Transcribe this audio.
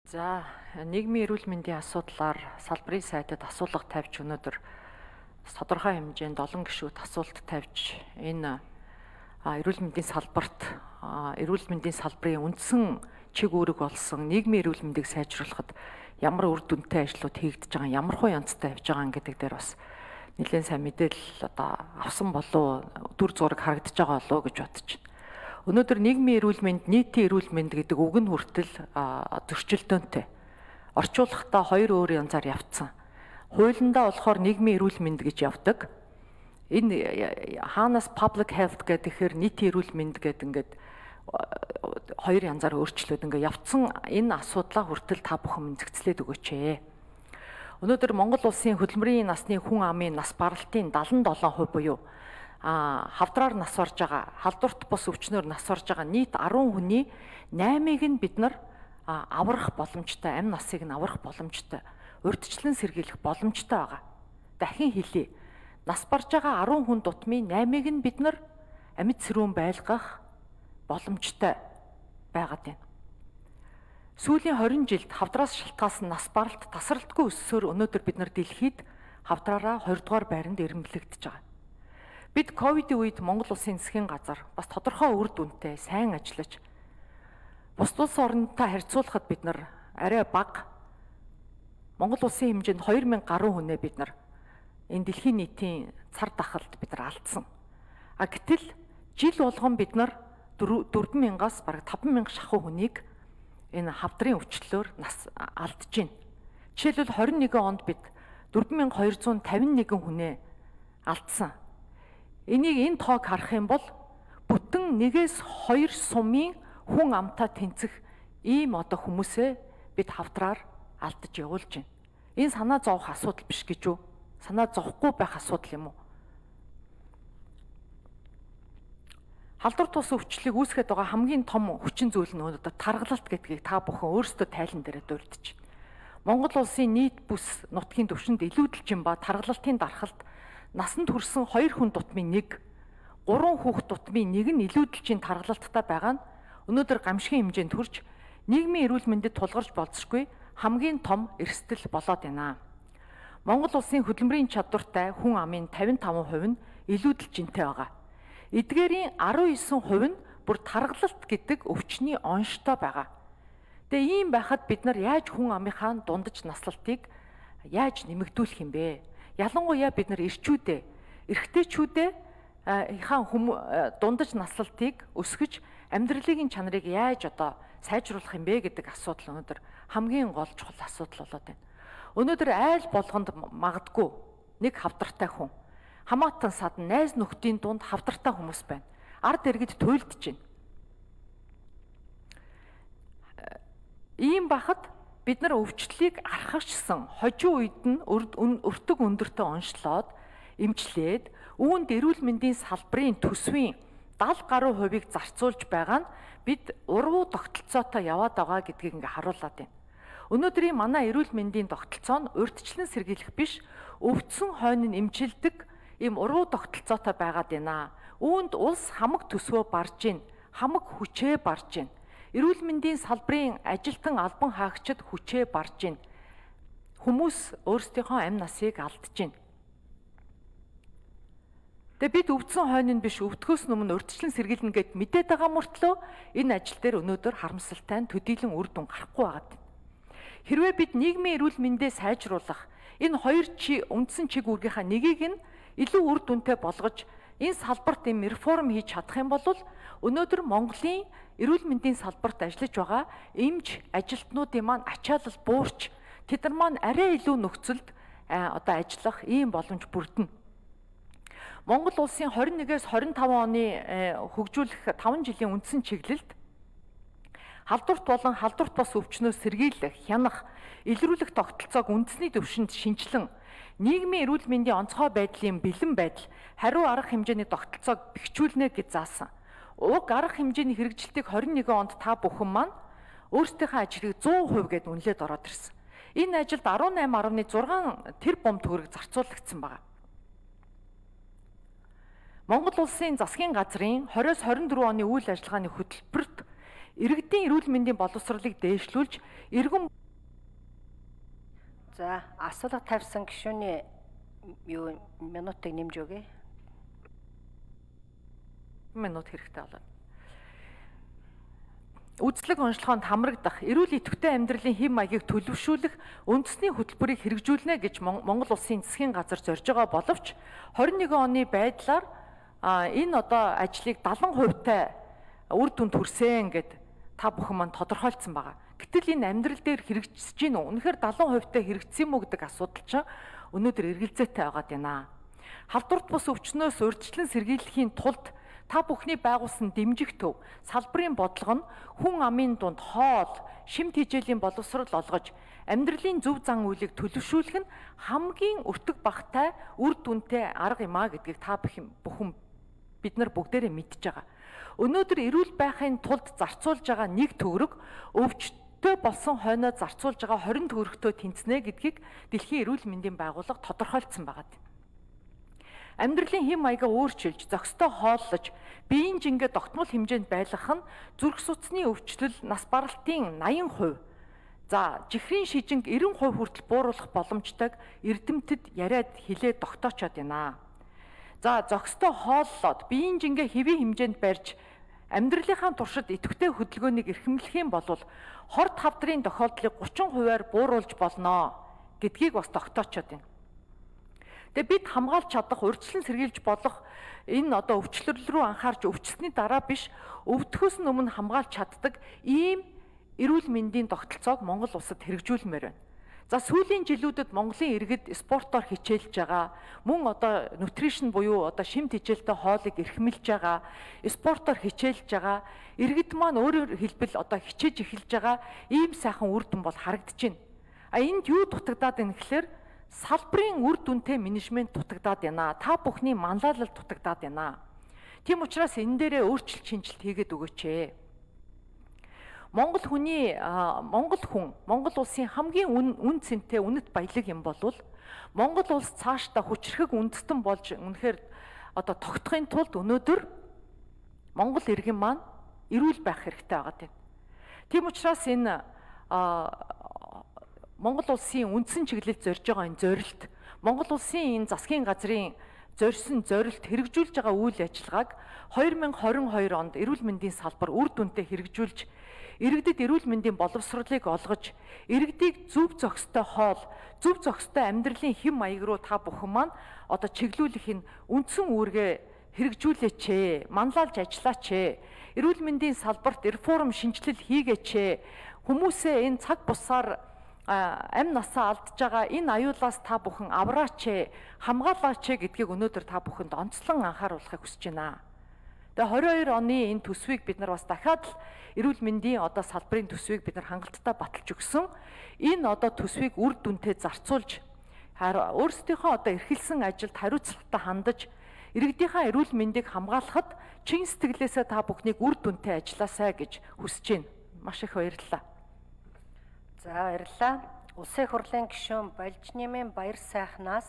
За, нийгмийн эрүүл мэндийн асуудлаар салбарын сайдад асуулга тавьж өнөөдөр тодорхой хэмжээнд олон гишүүд асуулт тавьж энэ эрүүл мэндийн салбарт эрүүл мэндийн салбарын үндсэн чиг үүрэг болсон нийгмийн эрүүл мэндийг сайжруулахад ямар үр дүнтэй ажлууд хийгдэж байгаа, ямар хуу янзтай явж байгаа гэдэг дээр бас нэлээд сайн мэдээлэл авсан болов дүр зураг харагдаж байгаа болов гэж бодож байна. Өнөөдөр нийгмийн эрүүл мэнд, нийтийн эрүүл мэнд гэдэг үг нь хүртэл зөрчилдөөнтэй. Орчуулахдаа хоёр өөр янзаар явцсан. Хуулиндаа болохоор нийгмийн эрүүл мэнд гэж явдаг. Энэ хаанаас public health гэхээр нийтийн эрүүл мэнд гэдэг ингээд хоёр янзаар өөрчлөөд ингээд явцсан энэ асуудлаа хүртэл та бүхэн мэдгцлээд өгөөч ээ. Өнөөдөр Монгол улсын хөдөлмөрийн насны хүн амын нас баралтын 77% буюу хавдраар нас орж байгаа, халдварт бус өвчнөөр нас орж байгаа нийт 10 хүний 8-ыг нь бид нар аврах боломжтой, амь насыг нь аврах боломжтой, урьдчилан сэргийлэх боломжтой байгаа. Дахин хэлье. Нас барж байгаа 10 хүн дутмын 8-ыг нь бид нар амьд сэрүүн байлгах боломжтой байгаад байна. Сүүлийн 20 жилд хавдраас шалтгаалсан нас баралт тасралтгүй өссөөр өнөөдөр бид нар дэлхийд хавдраараа 20 дугаар байранд ирмэлэгдэж байгаа. Бид ковидын үед Монгол улсын засгийн газар бас тодорхой үр дүнтэй сайн ажиллаж бусад улс орнтой харьцуулахад бид нар арай бага Монгол улсын хэмжээнд 2000 гаруй хүнээ бид нар энэ дэлхийн нийтийн цар тахалд бид нар алдсан. Гэтэл жил болгон бид нар 4000-аас бараг 5000 шахуу хүнийг энэ хавдрын өвчлөлөөр нас алдж байна. Жишээлбэл 21 онд бид 4251 хүнээ алдсан. Энийг энэ тоог харах юм бол бүтэн 1-2 сумын хүн амтаа тэнцэх ийм хүмүүсээ бид хавдраар алдаж явуулж байна. Энэ санаа зовох асуудал биш гэж үү? Санаа зовхгүй байх асуудал юм уу? Халдвар тус өвчлөлийг үүсгэж байгаа хамгийн том хүчин зүйл нь өнөөдөр таргалалт гэдгийг та бүхэн өөрсдөө тайлан дээрээ дурдж байна. Монгол улсын нийт бүс нутгийн түвшинд илүүдэлжин ба таргалалтын дархалт насанд хүрсэн 2 хүн дутмын 1, 3 хүүхэд дутмын 1 нь илүүдэлжин таргалалттай байгаа нь өнөөдөр гамшигын хэмжээнд хүрч нийгмийн эрүүл мэндэд тулгарч болзошгүй хамгийн том эрсдэл болоод байна. Монгол улсын хөдөлмөрийн чадвартай хүн амын 55% нь илүүдэлжинтэй байгаа. Эдгээрийн 19% нь бүр таргалалт гэдэг өвчний онштой байгаа. Тэгээ ийм байхад бид нар яаж хүн амынхаа дундаж наслалтыг яаж нэмэгдүүлэх юм бэ? Ялангуяа бид нар эрчүүдээ, эрэгтэйчүүдээ дундаж наслалтыг өсгөж амьдралын чанарыг яаж сайжруулах юм бэ гэдэг асуудал өнөөдөр хамгийн гол чухал асуудал болоод байна. Өнөөдөр айл болгонд магадгүй нэг хавдартай хүн, хамаатан садан найз нөхдийн дунд хавдартай хүмүүс байна. Ард иргэд туйлдж байна. Ийм бахад бид нар өвчлөлийг архагчсан хожим үед нь өртөг өндөртөө онцлоод эмчлээд үүнд эрүүл мэндийн салбарын төсвийн 70 гаруй хувийг зарцуулж байгаа нь бид урвуу тогтолцоотой яваад байгаа гэдгийг ингээ харуулад байна. Өнөөдрийн манай эрүүл мэндийн тогтолцоо нь урьдчилан сэргийлэх биш, өвдсөн хойно нь эмчилдэг ийм урвуу тогтолцоотой байгаад байна. Үүнд улс хамаг төсвөө барж гин, хамаг хүчээ барж гин. Эрүүл мэндийн салбарын ажилтан албан хаагчид хүчээ барж гин. Хүмүүс өөрсдийнхөө амь насыг алдж гин. Тэгээ бид өвдсөн хойно нь биш, өвдөхөөс өмнө урьдчилан сэргийлнэ гэд мэдээд байгаа мөртлөө энэ ажил дээр өнөөдөр харамсалтай нь төдийлөн үр дүн гарахгүй байгаад байна. Хэрвээ бид нийгмийн эрүүл мэндээ сайжруулах энэ хоёр үндсэн чиг үүргийнхаа нэгийг нь илүү үр дүнтэй болгож энэ салбарт реформ хийж чадах юм бол өнөөдөр Монголын эрүүл мэндийн салбарт ажиллаж байгаа эмч ажилтнуудын маань ачаалал буурч тэд нар маань арай илүү нөхцөлд ажиллах ийм боломж бүрдэнэ. Монгол улсын 21-с 25 оны хөгжүүлэх 5 жилийн үндсэн чиглэлд халдварт болон халдварт бос өвчнөөс сэргийлэх, хянах, илрүүлэх тогтолцоог үндэсний түвшинд шинжилэн нийгмийн эрүүл мэндийн онцгой байдлын бэлэн байдал, хариу арга хэмжээний тогтолцоог бэхжүүлнэ гэж заасан. Уг арга хэмжээний хэрэгжилтийг 21 онд та бүхэн маань өөрсдийнхөө ажлыг 100% гэд үнэлээд ороод ирсэн. Энэ ажилд 18.6 тэрбум төгрөг зарцуулагдсан байна. Монгол улсын засгийн газрын 20-с 24 оны үйл ажиллагааны хөтөлбөрт иргэдийн эрүүл мэндийн боловсролыг дээшлүүлж, иргэн За, асуулга тавьсан гишүүний юу минутыг нэмж өгье. Минут хэрэгтэй болоод. Үзлэг онцлогоонд хамрагдах, эрүүл идэвхтэй амьдралын хэм маягийг төлөвшүүлэх үндэсний хөтөлбөрийг хэрэгжүүлнэ гэж Монгол Улсын засгийн газар зорж байгаа боловч 21 оны байдлаар энэ одоо ажлыг 70% үр дүнд хүрсэн гэд та бүхэн маань тодорхойлцсон байгаа. Гэтэл энэ амьдрал дээр хэрэгжиж гин үү? Үнэхээр 70% хэрэгжсэн юм уу гэдэг асуудал чинь өнөөдөр эргэлзээтэй байгаад байна. Халдварт бус өвчнөөс урьдчилан сэргийлэхийн тулд та бүхний байгуулсан дэмжих төв, салбарын бодлого нь хүн амын дунд хоол, шимт хижээлийн боловсрол олгож, амьдралын зөв зан үйлийг төлөвшүүлэх нь хамгийн өртөг багтай үр дүнтэй арга юм а гэдгийг та бүхэн бид нар бүгдээрээ мэдж байгаа. Өнөөдөр эрүүл байхын тулд зарцуулж байгаа 1 төгрөг өвчтөй болсон хойноо зарцуулж байгаа 20 төгрөгтөө тэнцэнэ гэдгийг Дэлхийн эрүүл мэндийн байгууллага тодорхойлцсон байгаа. Амьдралын хэм маягаа өөрчилж, зохистой хооллож, биеийн жингээ тогтмол хэмжээнд байлгах нь зүрх судасны өвчлөл, нас баралтын 80%, за жихрийн шижинг 90% хүртэл бууруулах боломжтойг эрдэмтэд яриад хилээд тогтоочод байна. За зохистой хооллоод, биеийн жингээ хэвийн хэмжээнд барьж, амьдралынхаа туршид идэвхтэй хөдөлгөөнийг эрхэмлэх юм бол хорт хавдрын тохиолдлыг 30%-аар бууруулж болно гэдгийг бас тогтоочод байна. Тэгээ бид хамгаалж чадах, урьдчилан сэргийлж болох энэ одоо өвчлөл рүү анхаарч өвчлсөний дараа биш, өвдөхөөс өмнө хамгаалж чаддаг ийм эрүүл мэндийн тогтолцоог Монгол улсад хэрэгжүүлмээр байна. За сүүлийн жилүүдэд Монголын иргэд спортоор хичээлж байгаа, мөн одоо нутришн буюу одоо шимт хичээлтэй хоолыг эрхэмлж байгаа, спортоор хичээлж байгаа, иргэд маань өөрөөр хэлбэл одоо хичээж эхэлж байгаа ийм сайхан үр дүн бол харагдаж байна. Энд юу дутагдаад байна гэхээр салбарын үр дүнтэй менежмент дутагдаад байна. Та бүхний манлайлал дутагдаад байна. Тийм учраас энэ дээрээ өөрчлөлт шинжилт хийгээд өгөөч. Монгол улсын хамгийн үн цэнтэй үнэт баялаг юм бол Монгол улс цаашдаа хүчрхэг үндэстэн болж үнэхээр одоо тогтохын тулд өнөөдөр Монгол иргэн маань эрүүл байх хэрэгтэй байгаа. Тийм учраас энэ Монгол улсын үндсэн чиглэлд зорж байгаа энэ зорилт, Монгол улсын энэ засгийн газрын зорьсон зорилт хэрэгжүүлж байгаа үйл ажиллагааг 2022 онд эрүүл мэндийн салбар үр дүнтэй хэрэгжүүлж, иргэдэд эрүүл мэндийн боловсролыг олгож, иргэдийг зөв зохистой хоол, зөв зохистой амьдралын хэм маяг руу та бүхэн маань одоо чиглүүлэх энэ үндсэн үүргээ хэрэгжүүлээч, манлайлж ажиллаач. Эрүүл мэндийн салбарт реформ шинжилэл хийгээч. Хүмүүсээ энэ цаг бусаар амь насаа алдж байгаа энэ аюулаас та бүхэн авраач, хамгаалаач гэдгийг өнөөдөр та бүхэнд онцлон анхааруулахыг хүсэж байна. Тэгээ 22 оны энэ төсвийг бид нар бас дахиад л эрүүл мэндийн одоо салбарын төсвийг бид нар хангалттай баталж өгсөн. Энэ одоо төсвийг үр дүнтэй зарцуулж, өөрсдийнхөө одоо эрхэлсэн ажилд хариуцлагатай хандаж, иргэдийнхээ эрүүл мэндийг хамгаалахад чин сэтгэлээсээ та бүхнийг үр дүнтэй ажилласаа гэж хүсэж байна. Маш их баярлалаа. За баярлалаа. Улсын хурлын гишүүн Балжнемын Баяр сайхнаас